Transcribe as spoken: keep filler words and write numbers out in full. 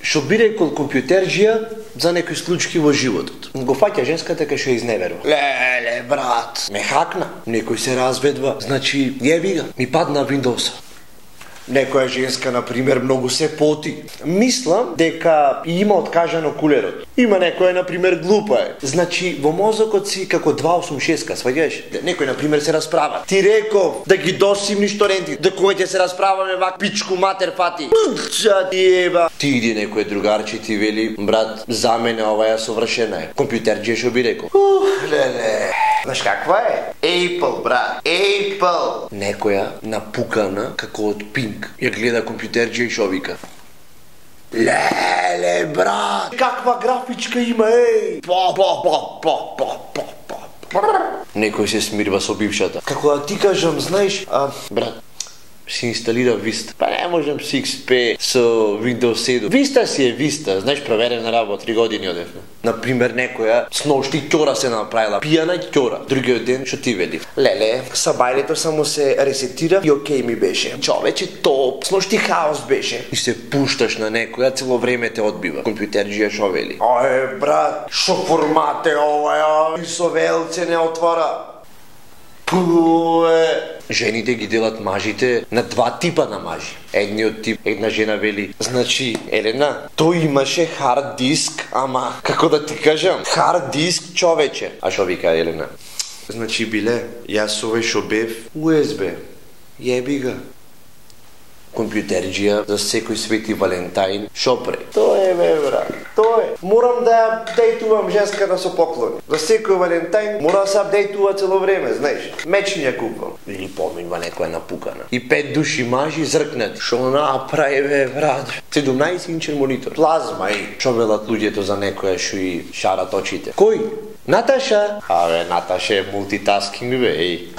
што би рекол компјутерџија за некои случаи во животот. Го фаќа женската кај што изневерува. Леле, брат, ме хакна, некој се разведва, значи јеби га, ми падна Windows. Некоја женска, например, многу се поти. Мислам дека има откажано кулерот. Има некоја, например, глупа е. Значи, во мозокот си како два осум шест, сваѓаш? Некој, например, се расправа. Ти реков да ги досимниш торенти, да кој ќе се расправаме вак пичку матер фати. Ча ти еба. Ти иди некој другарче ти вели, брат, за мене ова ја совршена е. Компјутерџија што би рекол. Ух, леле. Знаеш каква е? Apple, брат. Apple. Некоја напукана како од Pink ја гледа компјутерџија и шо вика. Леле, брат. Каква графичка има, еј. Па, па, па, па, па, па, па. Некој се смирва со бившата. Како да ти кажам, знаеш, а, брат, си инсталира Vista. Па не можам си икс пи со Windows седум. Vista си е Vista, знаеш, проверена работа, три години одевме. Например, некоја сношти ќора се направила, пијана ќора. Другиот ден што ти веди. Леле, сабајлето само се ресетира и окей ми беше. Човече топ, сношти хаос беше. И се пушташ на некоја, цело време те одбива. Компјутерџија шо вели? Ај, брат, шо формат е ова, и со велце не отвора. Пуе. Жените ги делат мажите на два типа на мажи. Едниот тип, една жена вели, значи, Елена, тој имаше хард диск, ама, како да ти кажам, хард диск човече. А шо вика Елена? Значи, биле, јас овој шо бев ю ес би. Јеби га. Компјутерџија за секој свети Валентајн, шо пре? Тоа е, бе, брат, тоа е. Морам да апдейтувам женската со поклони. За секој Валентајн мора да се апдейтува цело време, знаеш. Мечни ја купам. Или поминува некоја напукана. И пет души мажи зркнати. Шо направи, бе, брат? седумнаесет инчен монитор. Плазма, и шо велат луѓето за некоја шо и шарат очите. Кој? Наташа? Абе, Наташа е мултитаскинг, бе, еј.